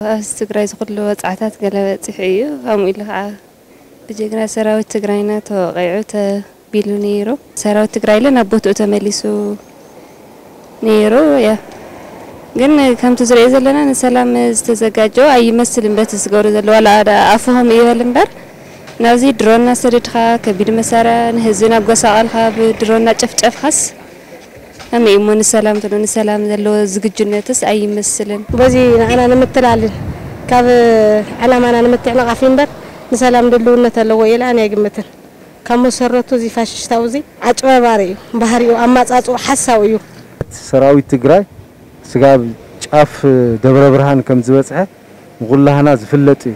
ኣብዚ ትግራይ ዝኹሉ ወፅዓታት ገለ በፂሑ እዩ። ከምኡ ኢሉ ከዓ ብጀግና ሰራዊት ትግራይና ተወቂዑ ተቢሉ ነይሩ። ሰራዊት ትግራይ ለ ናብ ቦትኡ ተመሊሱ ነይሩ። ያ ግን ከምቲ ዝሪኦ ዘለና ንሰላም ዝተዘጋጀው ኣይመስልን። በቲ ዝገብሩ ዘለዋ ዋላ ኣፉ ከም ይበል እምበር ናብዚ ድሮና ሰደድካ ከቢድ መሳርያ ንህዝቢ ናብ ጎሳቐልካ ብድሮና ጨፍጨፍካስ ከመይ እሞ ንሰላም ትብሎ? ንሰላም ዘለዎ ዝግጁነትስ ኣይመስልን። በዚ ንዓና ንምትላልን ካብ ዕላማና ንምትዕንቓፍ እምበር ንሰላም ድልውነት ኣለዎ ኢለ ኣነ ኣይግምትን። ካብ መሰረቱ እዚ ፋሽስታዊ እዚ ኣጭበርባሪ እዩ፣ ባህሪኡ ኣማጻጽኡ ሓሳዊ እዩ። ሰራዊት ትግራይ ስጋብ ጫፍ ደብረ ብርሃን ከም ዝበፅሐ ንኩላህና ዝፍለጥ እዩ።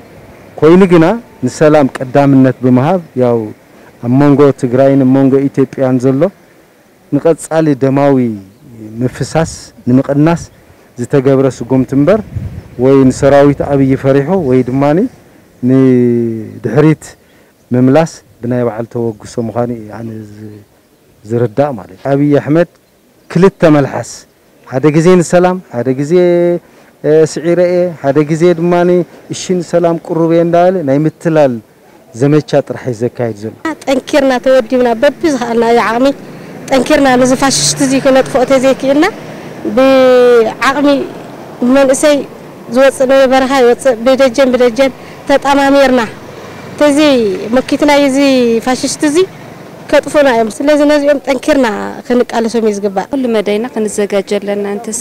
ኮይኑ ግና ንሰላም ቀዳምነት ብምሃብ ያው ኣብ መንጎ ትግራይን ኣብ መንጎ ኢትዮጵያን ዘሎ ንቐጻሊ ደማዊ ምፍሳስ ንምቕናስ ዝተገብረ ስጉምቲ እምበር ወይ ንሰራዊት ኣብይ ፈሪሑ ወይ ድማ ንድሕሪት ምምላስ ብናይ ባዕሉ ተበግሶ ምዃኑ እዩ ኣነ ዝርዳእ ማለት እዩ። ኣብይ ኣሕመድ ክልተ መልሓስ ሓደ ግዜ ንሰላም ሓደ ግዜ ስዒረ እየ ሓደ ግዜ ድማ እሺ ንሰላም ቅሩብ እየ እንዳበለ ናይ ምትላል ዘመቻ ጥራሕ እዩ ዘካይድ ዘሎ። ጠንኪርና ተወዲብና በቢ ዝኸኣልናዮ ዓቕሚ ጠንኪርና ነዚ ፋሽስት እዚ ክነጥፍኦ ተዘይክኢልና ብዓቕሚ ብመንእሰይ ዝወፅእ ናይ በረኻ ይወፅእ ብደጀን ብደጀን ተጣማሚርና ተዘይ መኪትናዮ እዚ ፋሽስት እዚ ከጥፉና እዮም። ስለዚ ነዚኦም ጠንኪርና ክንቃለሶም እዩ ዝግባእ። ኩሉ መዳይና ክንዘጋጆ ኣለና። እንተስ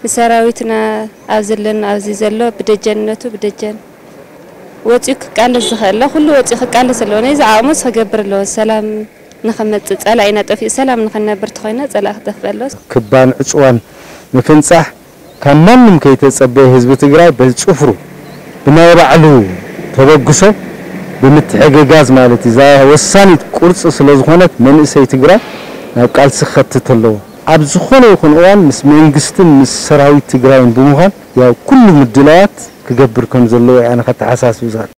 ንሰራዊትና ኣብ ዘለና ኣብዚ ዘሎ ብደጀንነቱ ብደጀን ወፂኡ ክቃለስ ዝኽእል ኩሉ ወፂኡ ክቃለስ ኣለዎ። ነዚ ዓቕሙስ ክገብር ኣለዎ። ሰላም ንኽመፅእ ፀላኢና ጠፊኡ ሰላም ንኽንነብር ተኾይና ፀላኢ ክጠፍእ ኣለዎ። ክባን ዕፅዋን ምፍንፃሕ ካብ ማንም ከይተፀበየ ህዝቢ ትግራይ በዚ ፅፍሩ ብናይ ባዕሉ ተበግሶ ብምትሕግጋዝ ማለት እዩ። እዛ ወሳኒት ቁርፂ ስለዝኾነት መንእሰይ ትግራይ ናብ ቃልሲ ክኸትት ኣለዎ። ኣብ ዝኾነ ይኹን እዋን ምስ መንግስትን ምስ ሰራዊት ትግራይን ብምዃን ያው ኩሉ ምድላዋት ክገብር ከም ዘለዎ እየ ኣነ ከተሓሳስብ ዝኽእል።